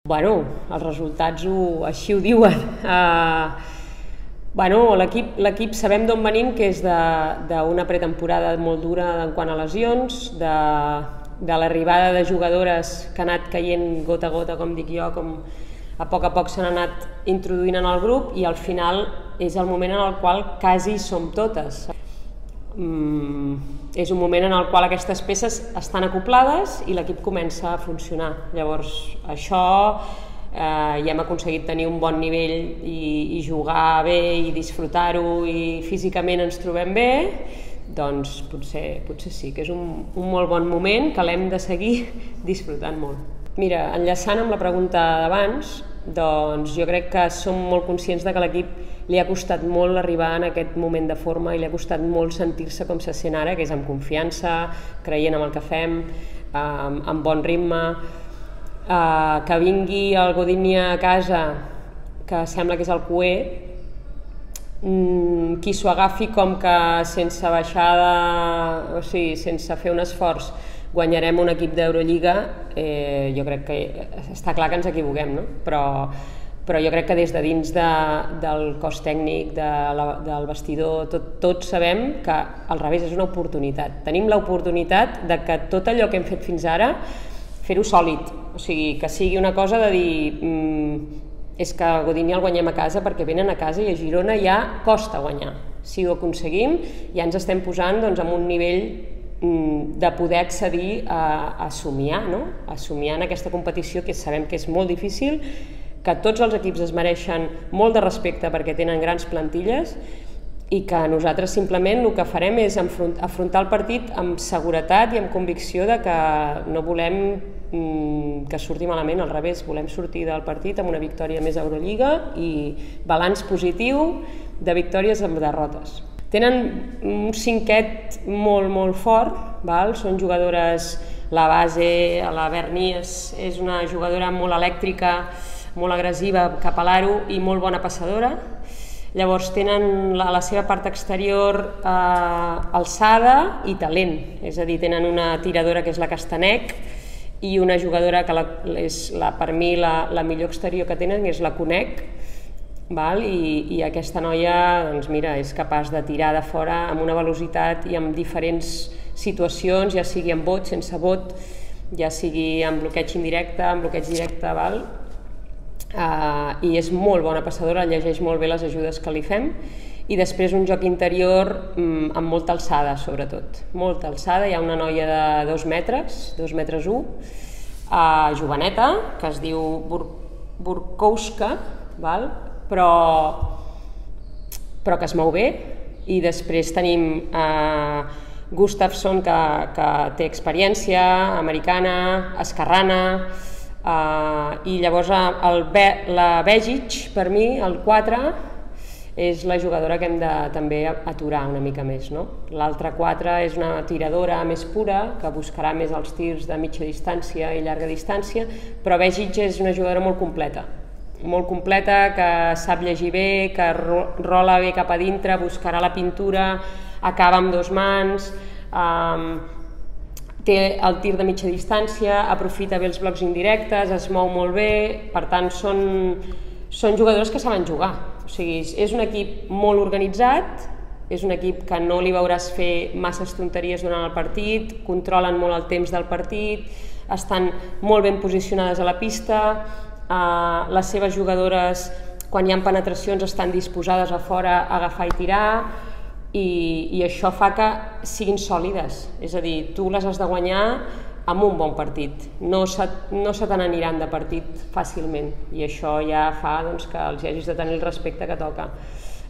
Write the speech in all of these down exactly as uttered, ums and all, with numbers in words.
Bueno, els resultats ho, així ho diuen. Uh, bueno, l'equip sabem d'on venim, que és d'una pretemporada molt dura en quant a lesions, de, de l'arribada de jugadores que ha anat caient gota a gota, com dic jo, com a poc a poc s'han anat introduint en el grup, i al final és el moment en el qual quasi som totes. Mm, és un moment en el qual aquestes peces estan acoplades i l'equip comença a funcionar. Llavors, això eh, ja hem aconseguit tenir un bon nivell i, i jugar bé i disfrutar-ho, i físicament ens trobem bé, doncs potser, potser sí que és un, un molt bon moment que l'hem de seguir disfrutant molt. Mira, enllaçant amb la pregunta d'abans, doncs jo crec que som molt conscients de que l'equip li ha costat molt arribar en aquest moment de forma i li ha costat molt sentir-se com se sent ara, que és amb confiança, creient en el que fem, amb bon ritme. Que vingui el Godinho a casa, que sembla que és el cué, qui s'ho agafi com que sense baixada, o sigui, sense fer un esforç, guanyarem un equip d'Eurolliga, eh, jo crec que està clar que ens equivoquem, no? Però, però jo crec que des de dins de, del cos tècnic, de la, del vestidor, tot, tots sabem que al revés és una oportunitat. Tenim l'oportunitat de que tot allò que hem fet fins ara, fer-ho sòlid, o sigui, que sigui una cosa de dir mm, és que a Godinho el guanyem a casa perquè venen a casa i a Girona ja costa guanyar. Si ho aconseguim, ja ens estem posant doncs, en un nivell de poder accedir a, a somiar, no? a somiar en aquesta competició, que sabem que és molt difícil, que tots els equips es mereixen molt de respecte perquè tenen grans plantilles, i que nosaltres simplement el que farem és afrontar el partit amb seguretat i amb convicció de que no volem mm, que surti malament, al revés, volem sortir del partit amb una victòria més a Eurolliga i balanç positiu de victòries amb derrotes. Tenen un cinquet molt, molt fort, val? Són jugadores, la base, la Berni és, és una jugadora molt elèctrica, molt agressiva cap a l'aro i molt bona passadora. Llavors tenen a la seva part exterior eh, alçada i talent, és a dir, tenen una tiradora que és la Castanec i una jugadora que la, és la, per mi la, la millor exterior que tenen és la Conec. Val? I, i aquesta noia doncs mira, és capaç de tirar de fora amb una velocitat i amb diferents situacions, ja sigui amb bot, sense bot, ja sigui amb bloqueig indirecte, amb bloqueig directe, val? Uh, i és molt bona passadora, llegeix molt bé les ajudes que li fem, i després un joc interior um, amb molta alçada, sobretot, molta alçada. Hi ha una noia de dos metres, dos metres u, uh, joveneta, que es diu Bur Burkowska, val? Però, però que es mou bé, i després tenim eh, Gustafsson, que, que té experiència, americana, esquerrana, eh, i llavors el, la Begic, per mi, el quatre, és la jugadora que hem de també aturar una mica més, no? L'altra quatre és una tiradora més pura, que buscarà més els tirs de mitja distància i llarga distància, però Begic és una jugadora molt completa, molt completa, que sap llegir bé, que rola bé cap a dintre, buscarà la pintura, acaba amb dos mans, um, té el tir de mitja distància, aprofita bé els blocs indirectes, es mou molt bé, per tant són, són jugadors que saben jugar. O sigui, és un equip molt organitzat, és un equip que no li veuràs fer masses tonteries durant el partit, controlen molt el temps del partit, estan molt ben posicionades a la pista, Uh, les seves jugadores, quan hi ha penetracions, estan disposades a fora a agafar i tirar, i, i això fa que siguin sòlides, és a dir, tu les has de guanyar amb un bon partit, no se, no se te n'aniran de partit fàcilment, i això ja fa doncs, que els hagis de tenir el respecte que toca.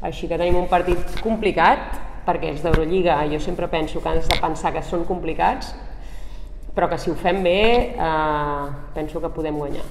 Així que tenim un partit complicat, perquè els d'Eurolliga jo sempre penso que has de pensar que són complicats, però que si ho fem bé eh, penso que podem guanyar.